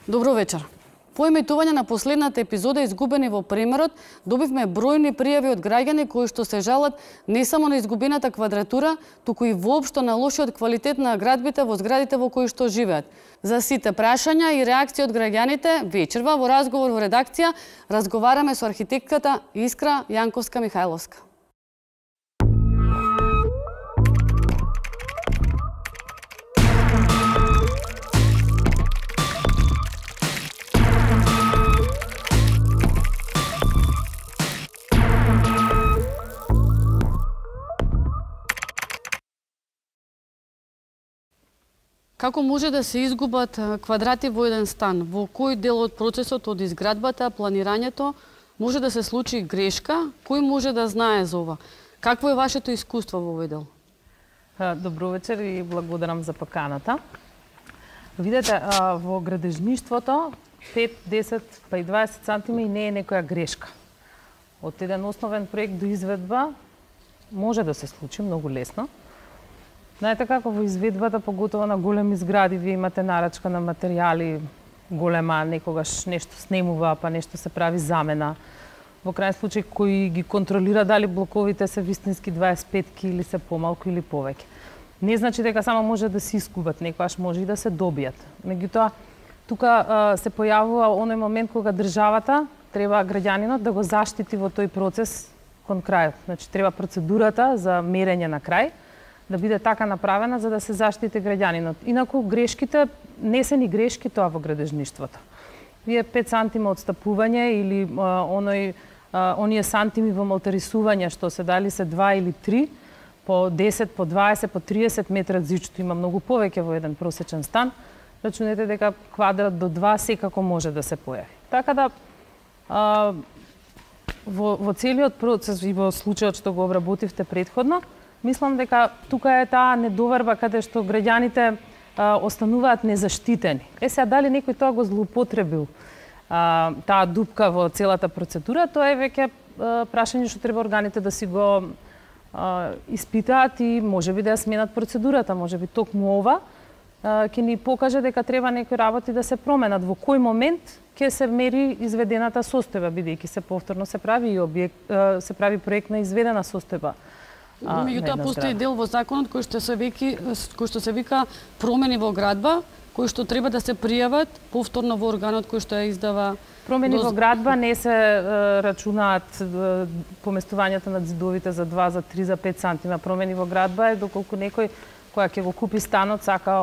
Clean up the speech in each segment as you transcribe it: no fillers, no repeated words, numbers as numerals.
Добро вечер. По емитување на последната епизода изгубени во премерот, добивме бројни пријави од граѓани кои што се жалат не само на изгубената квадратура, туку и воопшто на лошиот квалитет на градбите во зградите во кои што живеат. За сите прашања и реакции од граѓаните, вечерва во разговор во редакција разговараме со архитектката Искра Јанковска-Михајловска. Како може да се изгубат квадрати во еден стан? Во кој дел од процесот од изградбата, планирањето може да се случи грешка? Кој може да знае за ова? Какво е вашето искуство во овој дел? Добро вечер и благодарам за поканата. Видете, во градежништвото 5, 10 па и 20 сантими не е некоја грешка. Од еден основен проект до изведба може да се случи многу лесно. Знаете како во изведбата, поготово на големи згради, вие имате нарачка на материјали голема, некогаш нешто снемува, па нешто се прави замена. Во крајен случај, кој ги контролира дали блоковите се вистински 25 или се помалку или повеќе. Не значи дека само може да се искубат, некогаш може и да се добијат. Меѓутоа, тука се појавува оној момент кога државата треба граѓанинот да го заштити во тој процес кон крајот. Значи, треба процедурата за мерење на крај да биде така направена за да се заштити граѓанинот. Инаку грешките не се ни грешки тоа во градежништвото. Вие 5 сантима одстапување или оние сантими во молтарисување што се дали се 2 или 3 по 10, по 20, по 30 метра зичто има многу повеќе во еден просечен стан. Рачунете дека квадрат до 2 секако може да се појави. Така да во целиот процес и во случајот што го обработивте претходно, мислам дека тука е таа недоверба каде што граѓаните остануваат незаштитени. Сега дали некој тоа го злоупотребил таа дупка во целата процедура, тоа е веќе прашање што треба органите да си го испитаат и можеби да ја сменат процедурата, можеби токму ова ќе ни покаже дека треба некои работи да се променат. Во кој момент ќе се мери изведената состојба, бидејќи се повторно се прави и се прави проект на изведена состојба. Меѓутоа постои дел во законот кој што се вика промени во градба, кои што треба да се пријават повторно во органот кој што ја издава. Промени во градба не се рачунаат поместувањето на ѕидовите за 2, за 3, за 5 сантима. Промени во градба е доколку некој која ќе го купи станот сака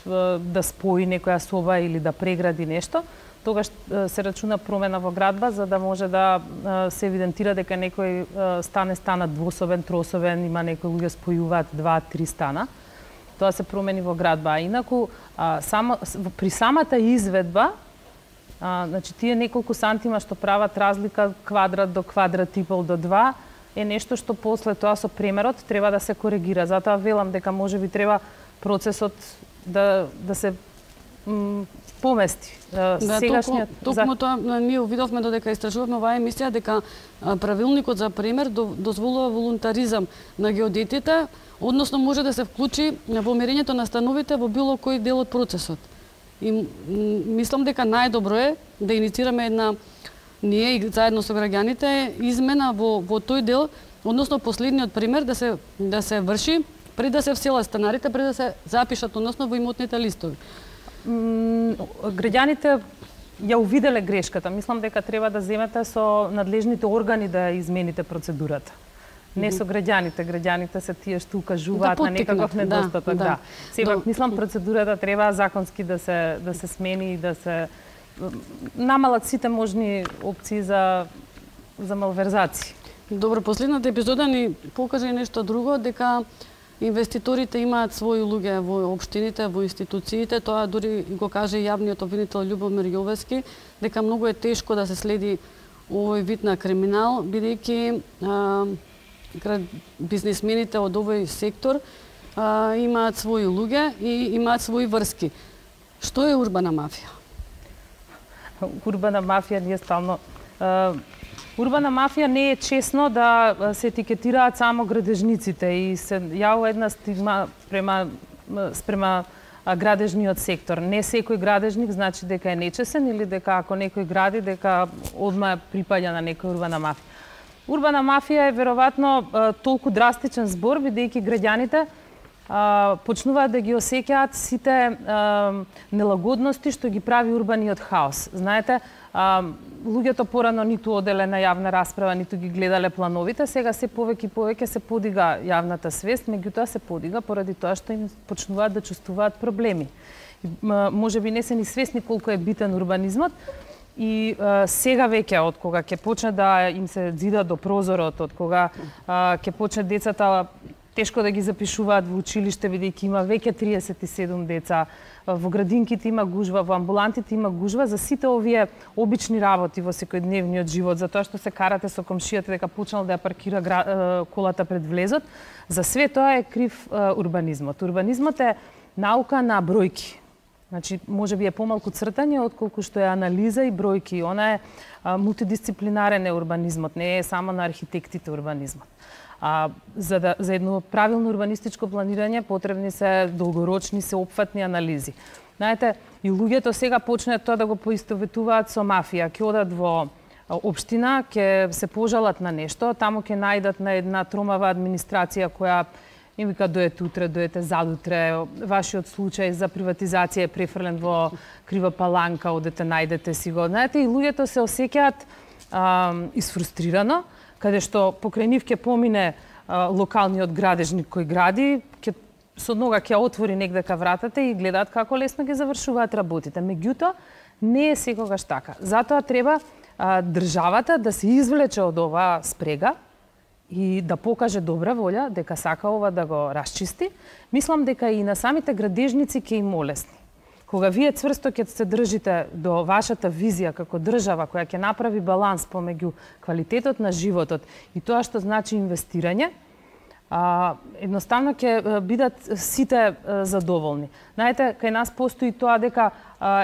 да спои некоја соба или да прегради нешто, тогаш се рачуна промена во градба за да може да се евидентира дека некој стан е станат двособен, трособен, има некои луѓе спојуваат 2-3 стана. Тоа се промени во градба. А инаку при самата изведба, значи тие неколку сантима што прават разлика квадрат до квадрат и пол до 2 е нешто што после тоа со премерот треба да се коригира. Затоа велам дека можеби треба процесот да се помести. Сегашниот токму тоа ние видовме додека истражувавме оваа емисија дека правилникот за премер дозволува волунтаризам на геодетите, односно може да се вклучи во мерењето на становите во било кој дел од процесот. И мислам дека најдобро е да иницираме една ние и заедно со граѓаните измена во тој дел, односно последниот премер да се врши пред да се вселат станарите, пред да се запишат односно во имотните листови. Граѓаните ја увиделе грешката. Мислам дека треба да земете со надлежните органи да измените процедурата. Не со граѓаните. Граѓаните се тие што укажуваат на некаков недостаток. Да. Сепак мислам процедурата треба законски да се смени и да се намалат сите можни опции за малверзации. Добро, последната епизода ни покажа и нешто друго, дека инвеститорите имаат своји луѓе во општините, во институциите, тоа дури го каже јавниот обвинител Љубомир Јовески, дека многу е тешко да се следи овој вид на криминал, бидејќи бизнисмените од овој сектор имаат своји луѓе и имаат своји врски. Што е урбана мафија? Урбана мафија ние стално урбана мафија не е честно да се етикетираат само градежниците и се јавува една стигма спрема градежниот сектор. Не секој градежник значи дека е нечесен или дека ако некој гради дека одма припаѓа на некоја урбана мафија. Урбана мафија е веројатно толку драстичен збор бидејќи граѓаните почнуваат да ги осеќаат сите нелагодности што ги прави урбаниот хаос. Знаете, луѓето порано ниту оделе на јавна расправа, ниту ги гледале плановите, сега се повеќе и повеќе се подига јавната свест, меѓутоа се подига поради тоа што им почнуваат да чувствуваат проблеми. Може би не се ни свесни колку е битен урбанизмот и сега веќе од кога ќе почне да им се зида до прозорот, од кога ќе почне децата тешко да ги запишуваат во училиште, бидејќи има веќе 37 деца, во градинките има гужва, во амбулантите има гужва, за сите овие обични работи во секојдневниот живот, за тоа што се карате со комшијата дека почнал да ја паркира колата пред влезот, за све тоа е крив урбанизмот. Урбанизмот е наука на бројки. Значи, може би е помалку цртање отколку што е анализа и бројки. Она е мултидисциплинарен е урбанизмот, не е само на архитектите урбанизмот. За едно правилно урбанистичко планирање потребни се долгорочни, сеопфатни анализи. Знаете, и луѓето сега почнеат тоа да го поистоветуваат со мафија. Ќе одат во општина, ќе се пожалат на нешто, таму ќе најдат на една тромава администрација која им вика доете утре, доете задутре, вашиот случај за приватизација е префрлен во крива паланка, одете најдете си го. Знаете, и луѓето се осеќаат исфрустрирано, каде што покрај нив ќе помине локалниот градежник кој гради, со нога ќе отвори негдека вратата и гледаат како лесно ги завршуваат работите. Меѓутоа, не е секогаш така. Затоа треба државата да се извлече од оваа спрега и да покаже добра волја дека сака ова да го расчисти. Мислам дека и на самите градежници ќе им олесни. Кога вие цврсто ќе се држите до вашата визија како држава која ќе направи баланс помеѓу квалитетот на животот и тоа што значи инвестирање, едноставно ќе бидат сите задоволни. Знаете, кај нас постои тоа дека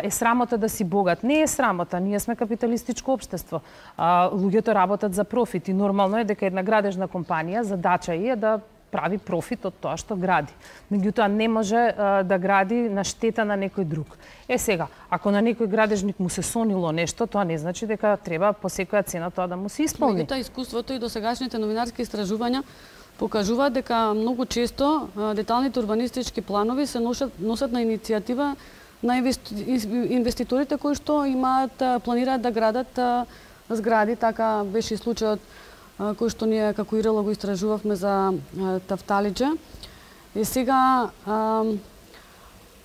е срамота да си богат. Не е срамота, ние сме капиталистичко општество. Луѓето работат за профит и нормално е дека една градежна компанија задача е да прави профит од тоа што гради. Меѓутоа не може да гради на штета на некој друг. Сега, ако на некој градежник му се сонило нешто, тоа не значи дека треба по секоја цена тоа да му се исполни. Меѓутоа искуството и досегашните новинарски истражувања покажуваат дека многу често деталните урбанистички планови се носат на иницијатива на инвеститорите кои што планираат да градат згради. Така беше и случајот кој што ние како ИРЛ го истражувавме за Тафталиџе. И сега,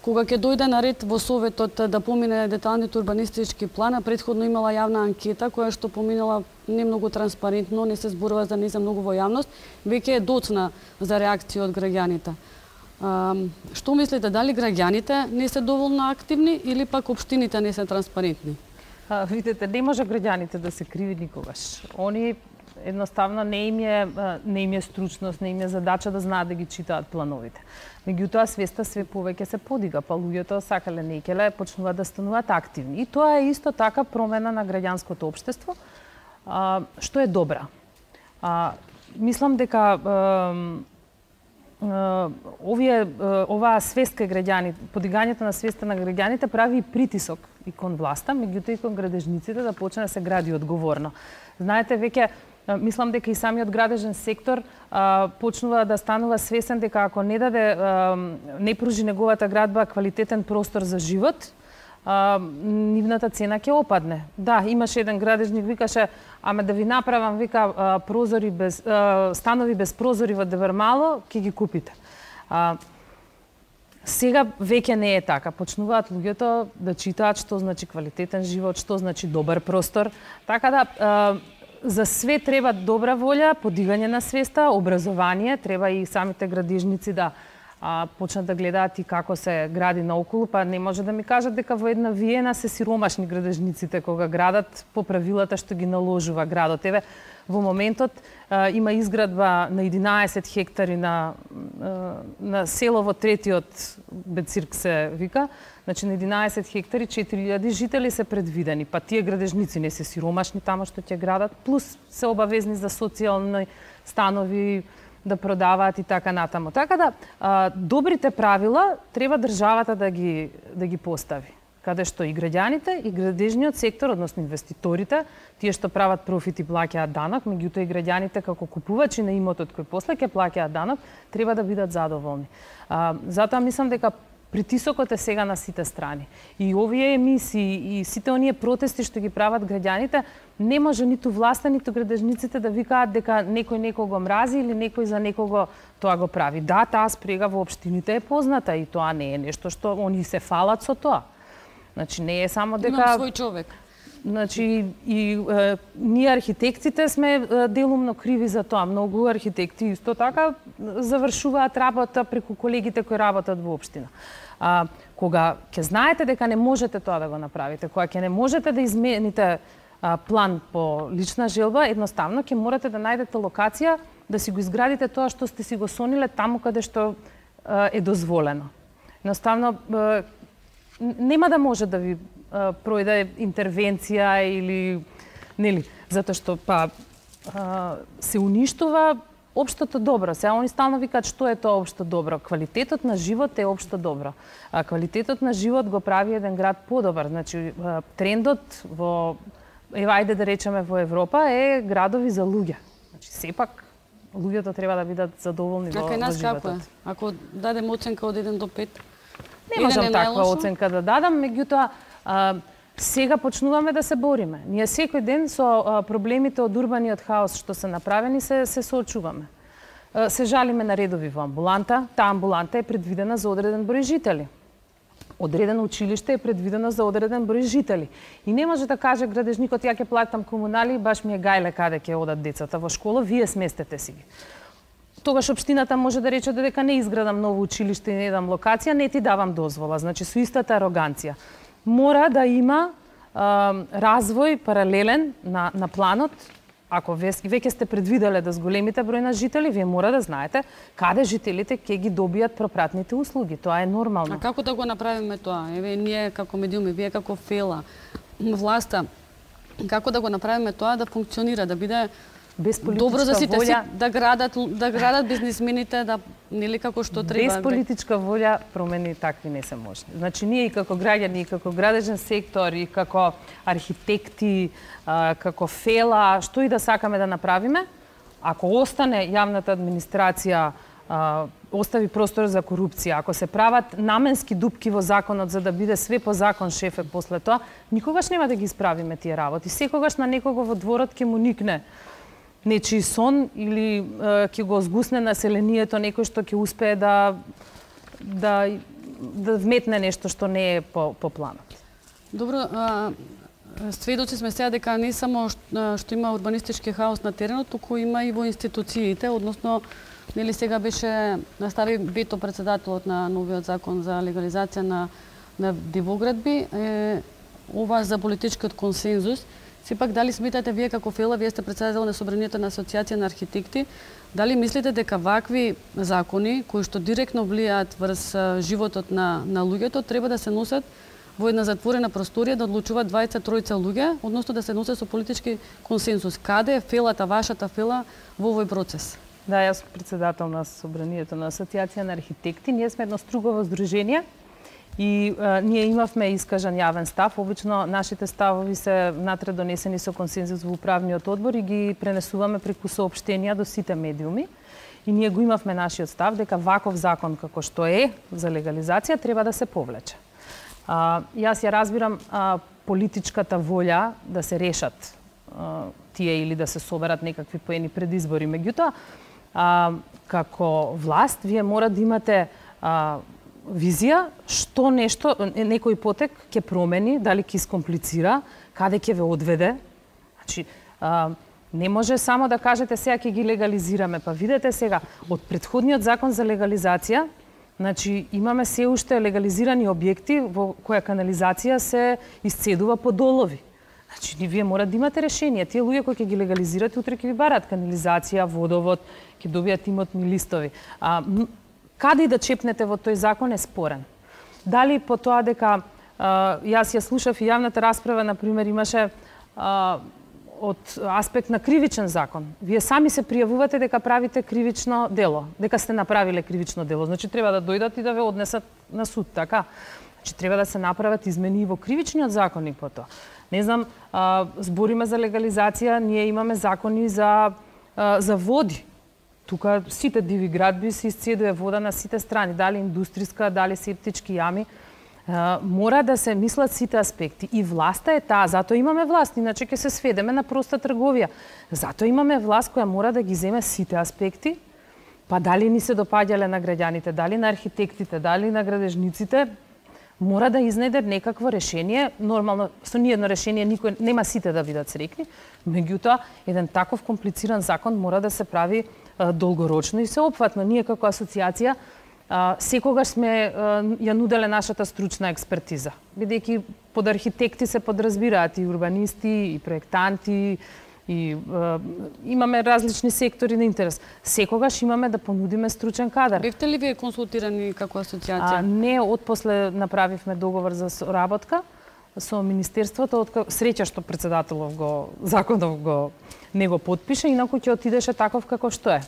кога ќе дојде на ред во Советот да помине деталните урбанистички плана, претходно имала јавна анкета која што поминала не многу транспарентно, не се зборува за не за многу во јавност, веќе е доцна за реакција од граѓаните. Што мислите, дали граѓаните не се доволно активни или пак општините не се транспарентни? Видите, не може граѓаните да се криви никогаш. Они едноставно не им е стручност, не им е задача да знаат да ги читаат плановите. Меѓутоа свеста све повеќе се подига, па луѓето сакале некеле почнуваат да стануваат активни. И тоа е исто така промена на граѓанското општество, што е добра. Мислам дека оваа свест кај граѓаните, подигањето на свеста на граѓаните прави притисок и кон власта, меѓутоа и кон градежниците да почне да се гради одговорно. Знаете, веќе мислам дека и самиот градежен сектор почнува да станува свесен дека ако не пружи неговата градба квалитетен простор за живот, нивната цена ќе опадне. Да, имаше еден градежник викаше, ама да ви направам вика станови без прозори во Девермало, ќе ги купите. Сега веќе не е така. Почнуваат луѓето да читаат што значи квалитетен живот, што значи добар простор. Така да за све треба добра волја, подигање на свеста, образование, треба и самите градежници да почнат да гледаат и како се гради наоколу, па не може да ми кажат дека во една Виена се сиромашни градежниците кога градат по правилата што ги наложува градот. Еве, во моментот има изградба на 11 хектари на село во третиот Бецирк се вика, значи на 11 хектари 4000 жители се предвидени, па тие градежници не се сиромашни тамо што ќе градат, плюс се обавезни за социјални станови, да продаваат и така натаму. Така да добрите правила треба државата да ги постави, каде што и граѓаните и градежниот сектор, односно инвеститорите, тие што прават профит и плаќаат данок, меѓутоа и граѓаните како купувачи на имотот кој после ќе плаќаат данок, треба да бидат задоволни. Затоа мислам дека притисокот е сега на сите страни. И овие емисии и сите оние протести што ги прават граѓаните, не може ниту власта, ниту градежниците да викаат дека некој некого мрази или некој за некого тоа го прави. Да, таа спрега во општините е позната и тоа не е нешто што они се фалат со тоа. Значи не е само дека имам свој човек. Значи и ние архитектите сме делумно криви за тоа. Многу архитекти исто така завршуваат работа преку колегите кои работат во општина. Кога ќе знаете дека не можете тоа да го направите, кога ќе не можете да измените план по лична желба, едноставно ќе морате да најдете локација да си го изградите тоа што сте си го сониле таму каде што е дозволено. Едноставно нема да може да ви пројде интервенција или нели, затоа што се уништува општото добро. Сега они стално викаат што е тоа општо добро. Квалитетот на живот е општо добро. Квалитетот на живот го прави еден град подобар. Значи трендот во ајде да речеме во Европа е градови за луѓе. Значи сепак луѓето треба да бидат задоволни во животот. Како е? Ако дадем оценка од 1 до 5? Не можам таква оценка да дадам, меѓутоа сега почнуваме да се бориме. Ние секој ден со проблемите од урбаниот хаос што се направени се соочуваме. Се жалиме на редови во амбуланта. Таа амбуланта е предвидена за одреден број жители. Одредено училиште е предвидено за одреден број жители. И не може да каже градежникот ја ќе платам комунали, баш ми е гајле каде ќе одат децата во школа, вие сместете си ги. Тогаш општината може да рече дека не изградам ново училиште и не дам локација, не ти давам дозвола. Значи со истата ароганција. Мора да има развој паралелен на планот. Ако веќе сте предвиделе да зголемите број на жители, вие мора да знаете каде жителите ќе ги добијат пропратните услуги. Тоа е нормално. А како да го направиме тоа? Еве ние како медиуми, вие како ФЕЛА, власта, како да го направиме тоа да функционира, да биде добро за сите, да градат бизнисмените, да нели како што треба. Без политичка волја промени такви не се можни. Значи ние и како граѓани, и како градежен сектор, и како архитекти, како ФЕЛА, што и да сакаме да направиме, ако остане јавната администрација, остави простор за корупција, ако се прават наменски дупки во законот за да биде све по закон шефе после тоа, никогаш нема да ги исправиме тие работи. Секогаш на некого во дворот ќе му никне нечи сон или ќе го згусне населението некој што ќе успее да вметне нешто што не е по планот. Добро, сведоци сме сега дека не само што има урбанистички хаос на теренот, туку има и во институциите, односно нели сега беше настави вето претседателот на новиот закон за легализација на дивоградби, ова за политичкиот консензус. Сепак, дали сметате вие како ФЕЛА, вие сте претседател на Собранието на Асоциација на архитекти, дали мислите дека вакви закони, кои што директно влијаат врз животот на луѓето, треба да се носат во една затворена просторија, да одлучуваат 20-30 луѓе, односно да се носат со политички консензус? Каде е ФЕЛАта, вашата ФЕЛА во овој процес? Да, јас сум претседател на Собранието на Асоциација на архитекти. Ние сме едно стругово здружение и ние имавме искажан јавен став. Обично нашите ставови се внатре донесени со консензус во управниот одбор и ги пренесуваме преку соопштенија до сите медиуми. И ние го имавме нашиот став дека ваков закон како што е за легализација треба да се повлече. Јас ја разбирам политичката волја да се решат тие или да се соберат некакви поени пред избори. Меѓутоа, како власт, вие мора да имате визија што нешто, некој потек ќе промени, дали ќе искомплицира, каде ќе ве одведе. Значи, не може само да кажете сега ќе ги легализираме. Па видете сега, од претходниот закон за легализација, значи имаме се уште легализирани објекти во која канализација се исцедува по долови. Значи, вие мора да имате решение. Тие луѓе кои ќе ги легализирате, утре ќе ви барат канализација, водовод, ќе добијат имотни листови. Каде и да чепнете во тој закон е спорен. Дали по тоа дека јас ја слушав и јавната расправа, например, имаше од аспект на кривичен закон. Вие сами се пријавувате дека правите кривично дело, дека сте направиле кривично дело. Значи треба да дојдат и да ве однесат на суд, така? Значи треба да се направат измени и во кривичниот законник по тоа. Не знам, збориме за легализација, ние имаме закони за води. Тука сите диви градби се исцедува вода на сите страни, дали индустријска, дали септички јами. Мора да се мислат сите аспекти. И власта е таа, затоа имаме власт, иначе ќе се сведеме на проста трговија. Затоа имаме власт која мора да ги земе сите аспекти, па дали ни се допаѓале на граѓаните, дали на архитектите, дали на градежниците, мора да изнајде некакво решение. Нормално, со ниедно решение никој нема сите да бидат среќни, меѓутоа еден таков комплициран закон мора да се прави долгорочно и сеопфатно. Ние како асоциација секогаш сме ја нуделе нашата стручна експертиза, бидејќи под архитекти се подразбираат и урбанисти, и проектанти, и имаме различни сектори на интерес. Секогаш имаме да понудиме стручен кадар. Бевте ли вие консултирани како асоциација? Не, отпосле направивме договор за соработка со Министерството, среќа што председателов законов не го потпише, инаку ќе отидеше таков како што е.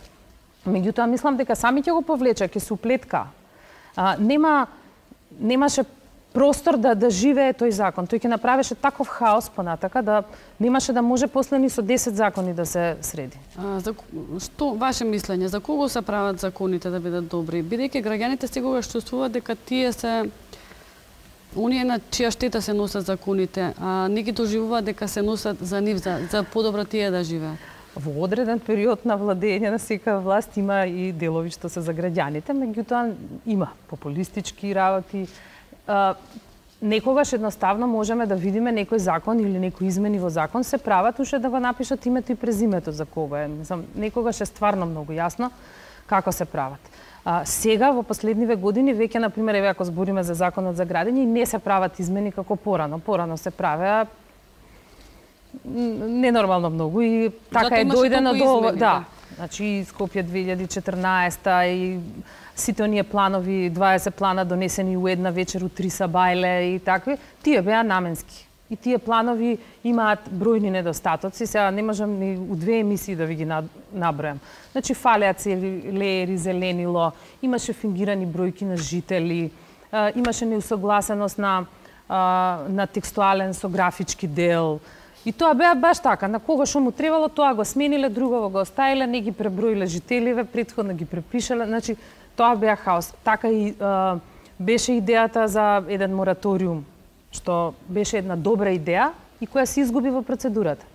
Меѓутоа, мислам дека сами ќе го повлече, ќе се уплетка. Немаше простор да живее тој закон. Тој ќе направеше таков хаос понатака да немаше да може после ни со 10 закони да се среди. Што ваше мислење, за кого се прават законите да бидат добри? Бидејќи граѓаните секогаш чувствуваат дека тие се оние на чија штета се носат законите, а не ги доживуваат дека се носат за нив, за подобро тие да живеат. Во одреден период на владење на секоја власт има и делови што се за граѓаните, меѓутоа има популистички работи. Некогаш едноставно можеме да видиме некој закон или некои измени во закон се прават уште да го напишат името и презимето за кого е. Некогаш е стварно многу јасно како се прават. Сега во последниве години веќе, например, еве ако збориме за законот за градење, не се прават измени како порано. Порано се правеа ненормално многу и така е дојдено до да. Значи Скопје 2014 и сите оние планови, 20 плана донесени у една вечер у 3 сабајле и такви, тие беа наменски. И тие планови имаат бројни недостатоци, сега не можам ни у 2 емисии да ви ги набројам. Значи фалеа целери, зеленило, имаше фингирани бројки на жители, имаше неусогласеност на текстуален со графички дел. И тоа беа баш така, на кого што му требало, тоа го смениле, другово го оставиле, не ги преброиле жителиве, претходно ги препишале, значи тоа беа хаос. Така и беше идејата за еден мораториум, што беше една добра идеја и која се изгуби во процедурата.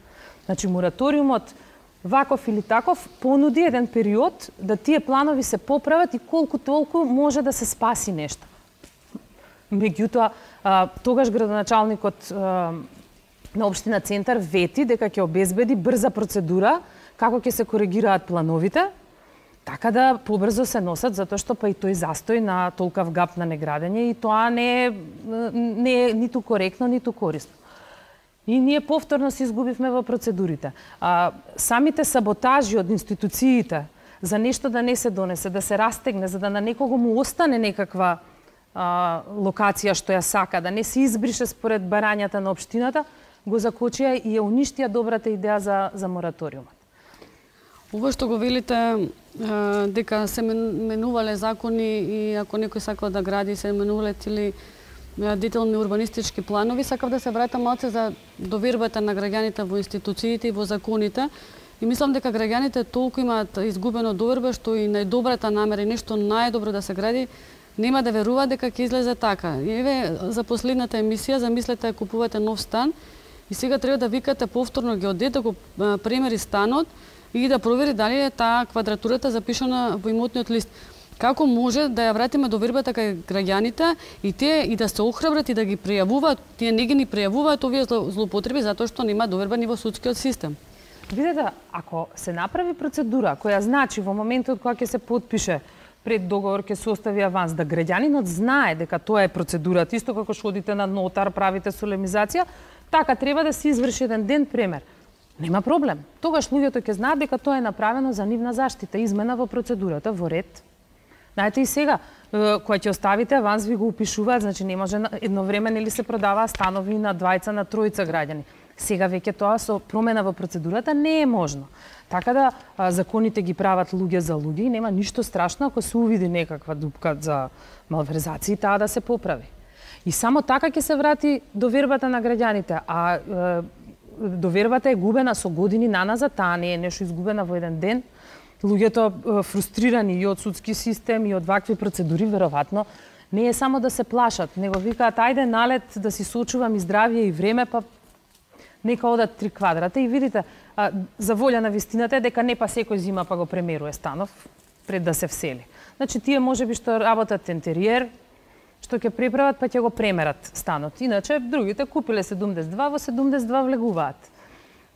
Значи мораториумот ваков или таков понуди еден период да тие планови се поправат и колку толку може да се спаси нешто. Меѓутоа, тогаш градоначалникот на општина Центар вети дека ќе обезбеди брза процедура како ќе се коригираат плановите, така да побрзо се носат, затоа што па и тој застој на толкав гап на неградење и тоа не е ниту коректно, ниту корисно. И ние повторно се изгубивме во процедурите. Самите саботажи од институциите за нешто да не се донесе, да се растегне, за да на некого му остане некаква локација што ја сака, да не се избрише според барањата на општината, го закочија и ја уништија добрата идеја за мораториумот. Ова што го велите дека се менувале закони и ако некој сакал да гради се менувале цели детални урбанистички планови, сакав да се вратам малце за довербата на граѓаните во институциите и во законите. И мислам дека граѓаните толку имаат изгубено доверба што и најдобрата намера и нешто најдобро да се гради нема да веруваат дека ќе излезе така. И еве за последната емисија замислете да купувате нов стан и сега треба да викате повторно геодет да го премери станот и да провери дали е таа квадратурата запишана во имотниот лист. Како може да ја вратиме довербата кај граѓаните и тие и да се охрабрат и да ги пријавуваат, тие не ги ни пријавуваат овие злоупотреби затоа што нема доверба ни во судскиот систем. Видете, ако се направи процедура која значи во моментот кога ќе се потпише пред договор ќе се остави аванс, да граѓанинот знае дека тоа е процедурата, исто како што одите на нотар, правите солемизација, така треба да се изврши еден ден премер. Нема проблем. Тогаш луѓето ќе знаат дека тоа е направено за нивна заштита, измена во процедурата, во ред. Знаете и сега, кога ќе оставите аванс, ви го упишуваат, значи не може едновремено или се продаваа станови на двајца, на тројца граѓани. Сега веќе тоа со промена во процедурата не е можно. Така да законите ги прават луѓе за луѓе и нема ништо страшно ако се увиди некаква дупка за малверзации, таа да се поправи. И само така ќе се врати довербата на граѓаните, а довербата е губена со години наназад, таа не е нешто изгубена во еден ден. Луѓето фрустрирани и од судски систем и од вакви процедури веројатно не е само да се плашат, него викаат ајде налет да си сочувам и здравје и време, па нека одат 3 квадрата и видите, за волја на вистината е дека не па секој зима па го премеруе станов пред да се всели. Значи тие можеби што работат интериер, што ќе преправат па ќе го премерат станот. Иначе другите купиле 72, во 72 влегуваат.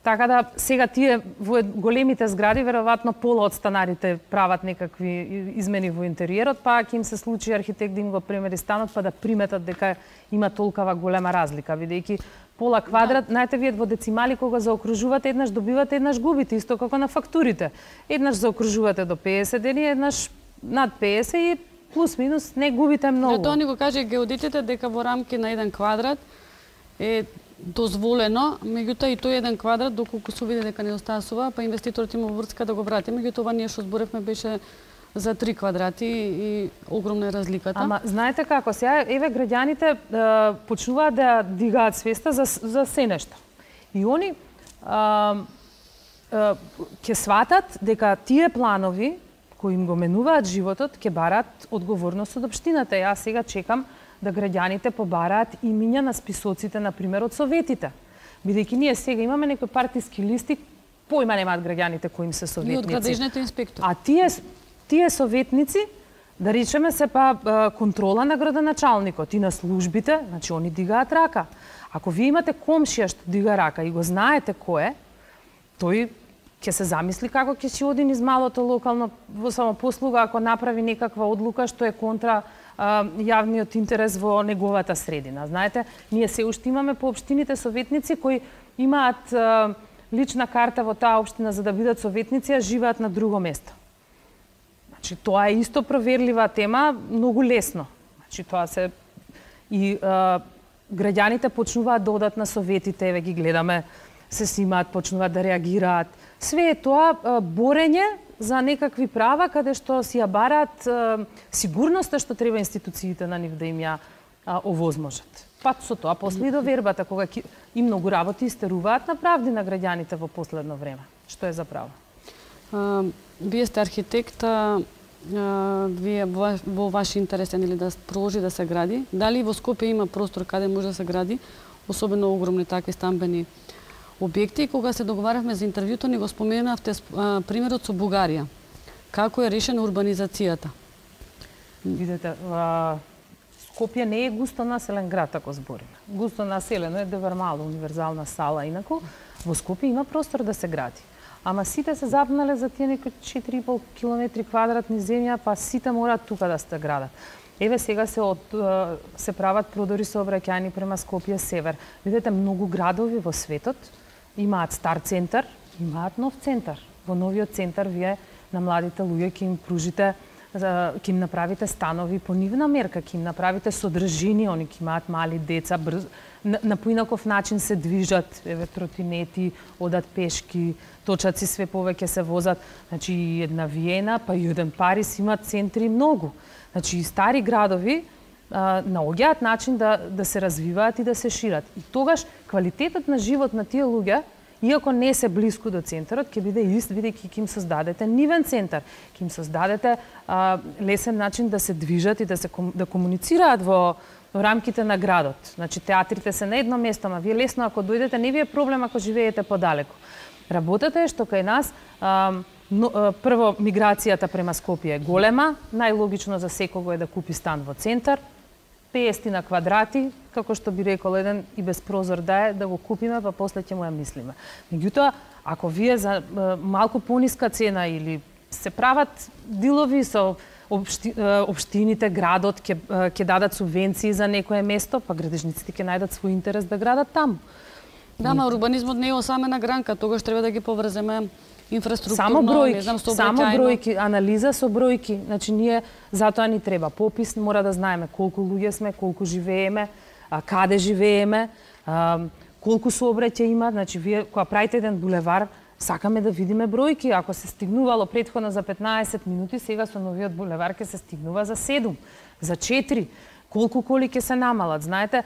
Така да сега тие во големите згради веројатно пола од станарите прават некакви измени во интериерот, па ќе им се случи архитект да им го премери станот па да приметат дека има толкова голема разлика, бидејќи пола квадрат, знаете вие во децимали кога заокружувате, еднаш добивате, еднаш губите, исто како на фактурите. Еднаш заокружувате до 50 дени, еднаш над 50 и плюс минус не губите многу. Тоа ни го каже геодетите дека во рамки на 1 квадрат е дозволено, меѓутоа и тој 1 квадрат доколку се види дека недостасува, па инвеститорот има врска да го врати, меѓутоа ние што зборевме беше за 3 квадрати и огромна е разликата. Ама знаете како, сега еве граѓаните почнуваат да дигаат свеста за се нешто. И они ќе сватат дека тие планови кои им го менуваат животот ќе бараат одговорност од општината. Јас сега чекам да граѓаните побараат имиња на списоците, например, од советите. Бидејќи ние сега имаме некои партиски листи, појма немаат граѓаните кои им се советници. И од градежните инспектори. А тие советници, да речеме се па контрола на градоначалникот и на службите, значи они дигаат рака. Ако вие имате комшија што дига рака и го знаете кој е, тој ќе се замисли како ќе си оди низ малото локално во самопослуга ако направи некаква одлука што е контра јавниот интерес во неговата средина. Знаете, ние се уште имаме по општините советници кои имаат лична карта во таа општина за да бидат советници, а живеат на друго место. Значи, тоа е исто проверлива тема, многу лесно. Значи, тоа се и граѓаните почнуваат да одат на советите, еве ги гледаме, се снимаат, почнуваат да реагираат. Све е тоа борење за некакви права каде што си ја бараат сигурноста што треба институциите на нив да им ја овозможат. Па со тоа после и довербата кога и многу работи истеруваат на правди на граѓаните во последно време. Што е за право? Вие сте архитект, вие во ваш интерес е да продолжи да се гради. Дали во Скопје има простор каде може да се гради, особено огромни такви стамбени објекти? Кога се договаравме за интервјуто, ни го споменавте примерот со Бугарија. Како е решена урбанизацијата? Видете, Скопје не е густо населен град, ако збориме. Густо населено е Девармало, универзална сала, инаку во Скопје има простор да се гради. Ама сите се запнале за тие некои 4,5 километри квадратни земја, па сите мораат тука да се градат. Еве сега се прават продори сообраќајни према Скопје север. Видете, многу градови во светот имаат стар центар, имаат нов центар. Во новиот центар вие на младите луѓе ќе им пружите, ќе им направите станови по нивна мерка, ќе им направите содржини, они ќе имаат мали деца, на поинаков начин се движат, еве тротинети, одат пешки, точаци све повеќе се возат. Значи една Виена, па и еден Париз имаат центри многу. Значи и стари градови наоѓаат начин да се развиваат и да се шират. И тогаш квалитетот на живот на тие луѓе, иако не се блиску до центарот, ќе биде ист, бидејќи ќе им создадете нивен центар, ќе им создадете лесен начин да се движат и да комуницираат во рамките на градот. Значи театрите се на едно место, ама вие лесно ако дојдете, не ви е проблем ако живеете подалеку. Работата е што кај нас прво миграцијата према Скопје е голема, најлогично за секого е да купи стан во центар, 50 на квадрати, како што би рекол еден и без прозор да го купиме, па после ќе му ја мислиме. Меѓутоа, ако вие за малку пониска цена или се прават дилови со општините, градот ќе дадат субвенции за некое место, па градежниците ќе најдат свој интерес да градат таму. Да, ма урбанизмот не е осамена гранка, тогаш треба да ги поврземе инфраструктурно, само бројки, сообраќајно. само бројки, анализа со бројки. Значи ние затоа ни треба попис, мора да знаеме колку луѓе сме, колку живееме, каде живееме, колку сообраќај има, значи вие кога правите еден булевар, сакаме да видиме бројки. Ако се стигнувало претходно за 15 минути, сега со новиот булевар ќе се стигнува за 7, за 4. Колку коли ќе се намалат? Знаете,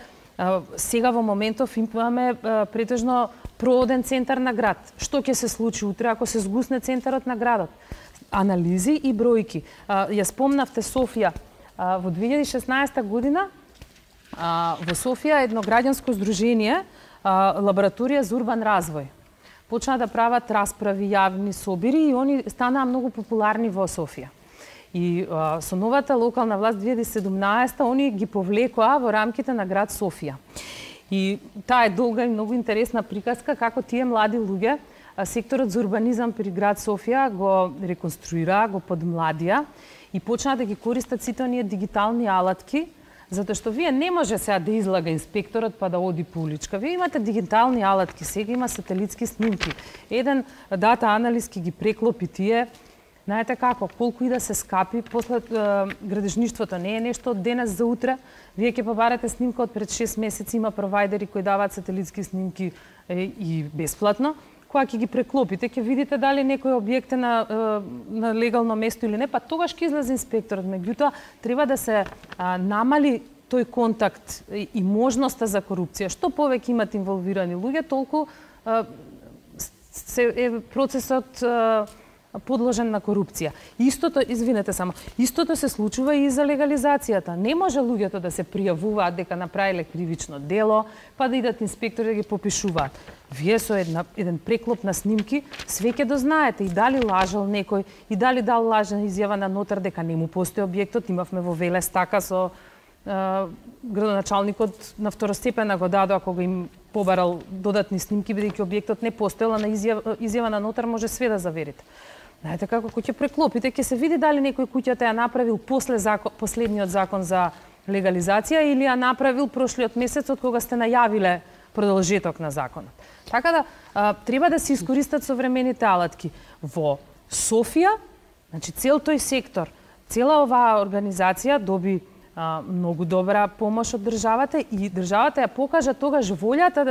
сега во моментов имаме претежно проводен центар на град. Што ќе се случи утре ако се згусне центарот на градот? Анализи и бројки. Ја спомнавте Софија. Во 2016 година во Софија едно граѓанско здружение, лабораторија за урбан развој, почна да прават расправи, јавни собири и они станаа многу популарни во Софија. И со новата локална власт 2017 они ги повлекоа во рамките на град Софија. И таа е долга и многу интересна приказка како тие млади луѓе секторот за урбанизам при град Софија го реконструира, го подмладија и почнаа да ги користат сите оние дигитални алатки, затоа што вие не може сега да излага инспекторот па да оди по уличка. Вие имате дигитални алатки, сега има сателитски снимки. Еден дата анализ ки ги преклопи тие. Знаете како, колку и да се скапи, после градежништвото не е нешто од денес за утре. Вие ќе побарате снимка од пред 6 месеци, има провайдери кои даваат сателитски снимки и бесплатно. Кога ќе ги преклопите, ќе видите дали некој објект е на легално место или не, па тогаш ќе излезе инспекторот. Меѓутоа, треба да се намали тој контакт и можноста за корупција. Што повеќе имат инволвирани луѓе, толку е процесот подложен на корупција. Истото, извинете само, истото се случува и за легализацијата. Не може луѓето да се пријавуваат дека направиле кривично дело, па да идат инспектори да ги попишуваат. Вие со еден преклоп на снимки све ќе дознаете и дали лажал некој, и дали дал лажна изјава на нотар дека не му постои објектот. Имавме во Велес така со градоначалникот на второстепена го дадоа кога им побарал додатни снимки бидејќи објектот не постоела, на изјава на нотар може све да заверите. Знаете како, кога ќе преклопите, ќе се види дали некој куќата ја направил последниот закон за легализација или ја направил прошлиот месец од кога сте најавиле продолжеток на законот. Така да треба да се искористат современите алатки. Во Софија, значи цел тој сектор, цела оваа организација доби многу добра помош од државата и државата ја покажа тогаш волјата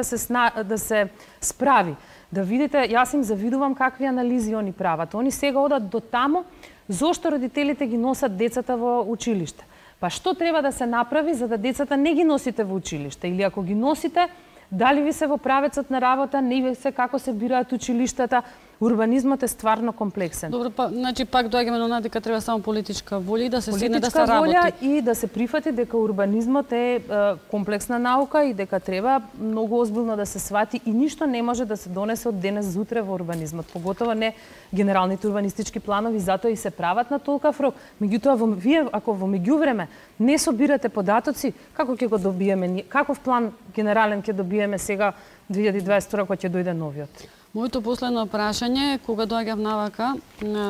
да се справи. Да видите, јас им завидувам какви анализи они прават. Они сега одат до таму зошто родителите ги носат децата во училиште. Па што треба да се направи за да децата не ги носите во училиште? Или ако ги носите, дали ви се во правецот на работа, не ви се како се бираат училиштата? Урбанизмот е стварно комплексен. Добро, па значи пак доаѓаме на она дека треба само политичка волја и да се седне да се работи. Политичка волја и да се прифати дека урбанизмот е комплексна наука и дека треба многу озбилно да се свати и ништо не може да се донесе од денес за утре во урбанизмот, поготово не генералните урбанистички планови, затоа и се прават на толкав рок. Меѓутоа вие ако во меѓувреме не собирате податоци, како ќе го добиеме? Каков план генерален ќе добиеме сега 2022 кога ќе дојде новиот? Моето последно прашање, кога доаѓав навака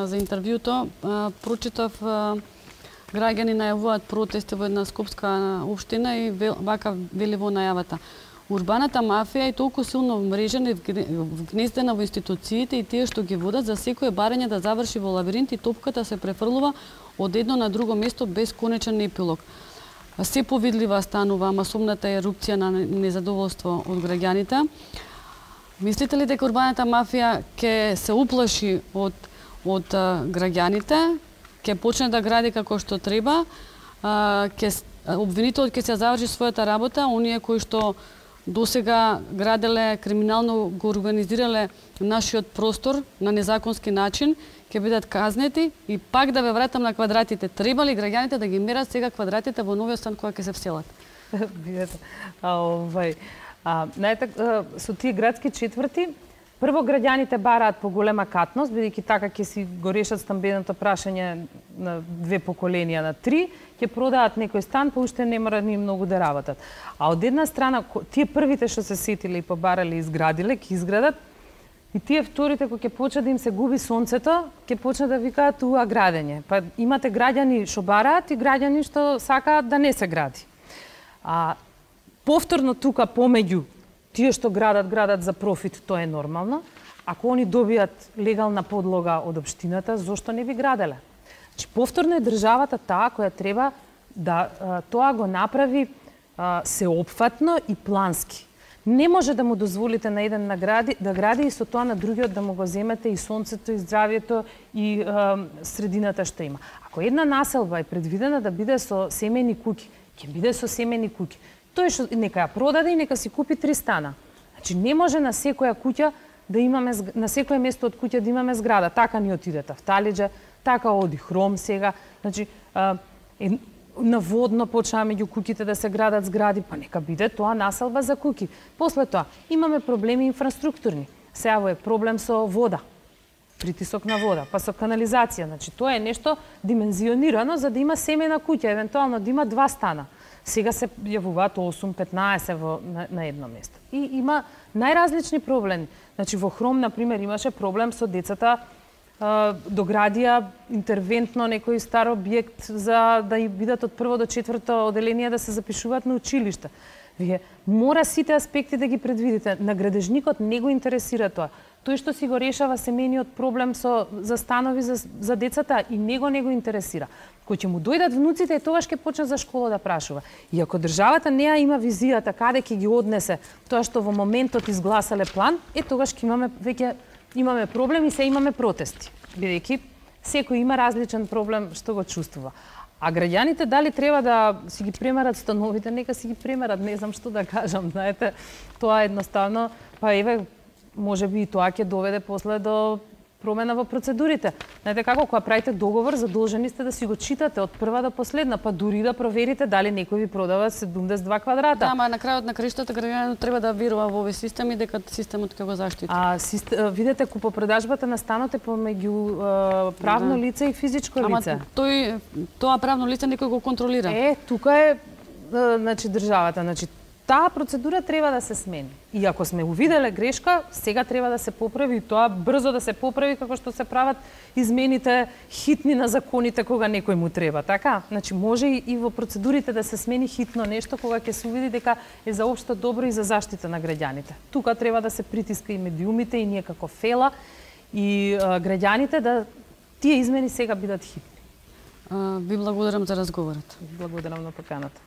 за интервјуто, прочитав граѓани најавуваат протести во една скопска општина и вака вели во најавата. Урбаната мафија е толку силно вмрежена и вгнездена во институциите и тие што ги водат за секое барање да заврши во лабиринт и топката се префрлува од едно на друго место без конечен епилог. Се повидлива станува масовната ерупција на незадоволство од граѓаните. Мислите ли дека урбаната мафија ќе се уплаши од граѓаните, ќе почне да гради како што треба, обвинителот ќе се заврши својата работа, оние кои што досега граделе, криминално го организирале нашиот простор на незаконски начин, ќе бидат казнети и пак да ве вратам на квадратите. Треба ли граѓаните да ги мерат сега квадратите во новиот стан кога ќе се вселат? Видете, знаете, со тие градски четврти, прво граѓаните бараат поголема катност, бидејќи така ќе си го решат стамбеното прашање на 2 поколенија, на 3, ќе продаат некој стан, па уште не мора ни многу да работат. А од една страна, тие првите што се сетиле и побарале и изградиле, ќе изградат, и тие вторите, кои ќе почне да им се губи сонцето, ќе почне да викаат уа градење. Па имате граѓани што бараат и граѓани што сакаат да не се гради. Повторно тука помеѓу тие што градат за профит, тоа е нормално. Ако они добијат легална подлога од општината, зошто не би граделе? Значи, повторно е државата таа која треба да тоа го направи сеопфатно и плански. Не може да му дозволите на еден да гради и со тоа на другиот да му го земете и сонцето, и здравието, и средината што има. Ако една населба е предвидена да биде со семени куќи, ќе биде со семени куќи. Тој што нека ја продаде и нека си купи 3 стана. Значи не може на секоја куќа да имаме, на секое место од куќа да имаме зграда. Така ни отидете в Талиџе, така оди Хром сега. Значи наводно почнаа меѓу куќите да се градат згради, па нека биде тоа населба за куќи. После тоа имаме проблеми инфраструктурни. Сега е проблем со вода, притисок на вода, па со канализација. Значи тоа е нешто димензионирано за да има семена куќа, евентуално да има 2 стана. Сега се јавуваат 8-15 на едно место. И има најразлични проблеми. Значи во Хром, например, имаше проблем со децата, доградија интервентно некој стар објект за да бидат од 1 до 4 оделение да се запишуваат на училишта. Вие мора сите аспекти да ги предвидите. На градежникот не го интересира тоа. Тој што си го решава семениот проблем за станови за децата и него не го интересира. Кој ќе му дојдат внуците, тогаш ќе почне за школа да прашува. И ако државата не има визијата каде ќе ги однесе тоа што во моментот изгласале план, тогаш ќе имаме проблем и се имаме протести. Бидејќи секој има различен проблем што го чувствува. А граѓаните дали треба да си ги премерат становите, нека си ги премерат, не знам што да кажам, знаете, тоа едноставно, па еве, можеби и тоа ќе доведе после до промена во процедурите. Знаете како, кога правите договор, задолжени сте да си го читате од прва до последна, па дури да проверите дали некој ви продава 72 квадрата. Да, ама на крајот на краиштата граѓанинот треба да верува во овој систем и дека системот ќе го заштити. Видете, купопродажбата на станот е помеѓу правно лице и физичко лице. Ама тоа правно лице некој го контролира. Тука е значи државата, значи таа процедура треба да се смени. И ако сме увиделе грешка, сега треба да се поправи и тоа брзо да се поправи како што се прават измените хитни на законите кога некој му треба, така? Значи може и во процедурите да се смени хитно нешто кога ќе се увиди дека е за општо добро и за заштита на граѓаните. Тука треба да се притиска и медиумите и ние како ФЕЛА и граѓаните да тие измени сега бидат хитни. Ви благодарам за разговорот. Благодарам на поканата.